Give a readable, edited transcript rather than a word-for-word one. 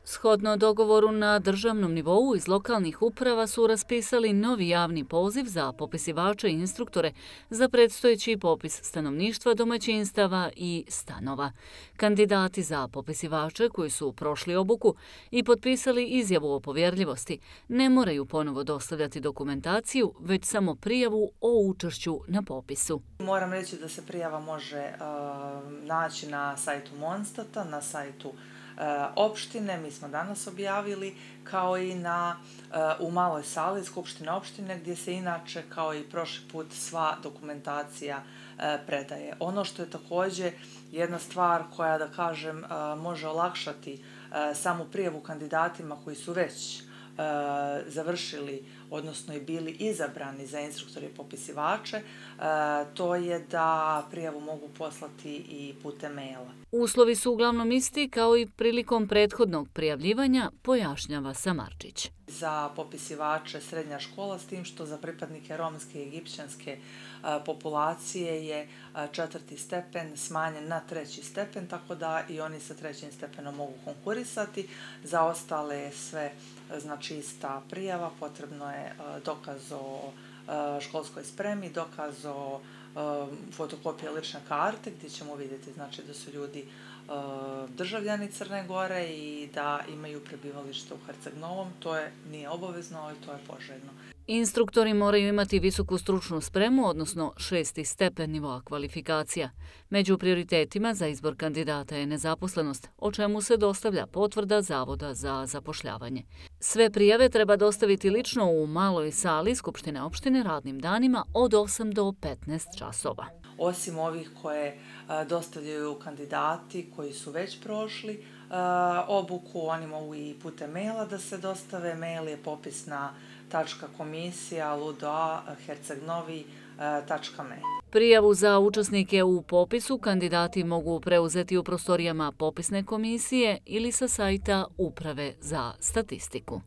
Shodno dogovoru na državnom nivou iz lokalnih uprava su raspisali novi javni poziv za popisivače i instruktore za predstojeći popis stanovništva, domaćinstava i stanova. Kandidati za popisivače koji su prošli obuku i potpisali izjavu o povjerljivosti ne moraju ponovo dostavljati dokumentaciju, već samo prijavu o učešću na popisu. Moram reći da se prijava može naći na sajtu Monstata, na sajtu opštine, mi smo danas objavili, kao i u maloj sali Skupštine opštine, gdje se inače, kao i prošli put, sva dokumentacija predaje. Ono što je također jedna stvar koja, da kažem, može olakšati samu prijavu kandidatima koji su već završili, odnosno i bili izabrani za instruktore i popisivače, to je da prijavu mogu poslati i putem maila. Uslovi su uglavnom isti kao i prilikom prethodnog prijavljivanja, pojašnjava Samarčić. Za popisivače srednja škola, s tim što za pripadnike romske i egipćanske populacije je 4. stepen smanjen na 3. stepen, tako da i oni sa 3. stepenom mogu konkurisati. Za ostale je sve ista prijava, potrebno je dokaz o školskoj spremi, dokaz o fotokopije lične karte, gdje ćemo vidjeti da su ljudi državljani Crne Gore i da imaju prebivalište u Herceg Novom. To nije obavezno, ali to je poželjno. Instruktori moraju imati visoku stručnu spremu, odnosno 6. stepen nivoa kvalifikacija. Među prioritetima za izbor kandidata je nezaposlenost, o čemu se dostavlja potvrda Zavoda za zapošljavanje. Sve prijave treba dostaviti lično u maloj sali Skupštine opštine radnim danima od 8 do 15 časova. Osim ovih koje dostavljaju kandidati koji su već prošli obuku, oni mogu i putem maila da se dostave. Mail je popisna.komisija.ludoa.hercegnovi.me. Prijavu za učesnike u popisu kandidati mogu preuzeti u prostorijama popisne komisije ili sa sajta Uprave za statistiku.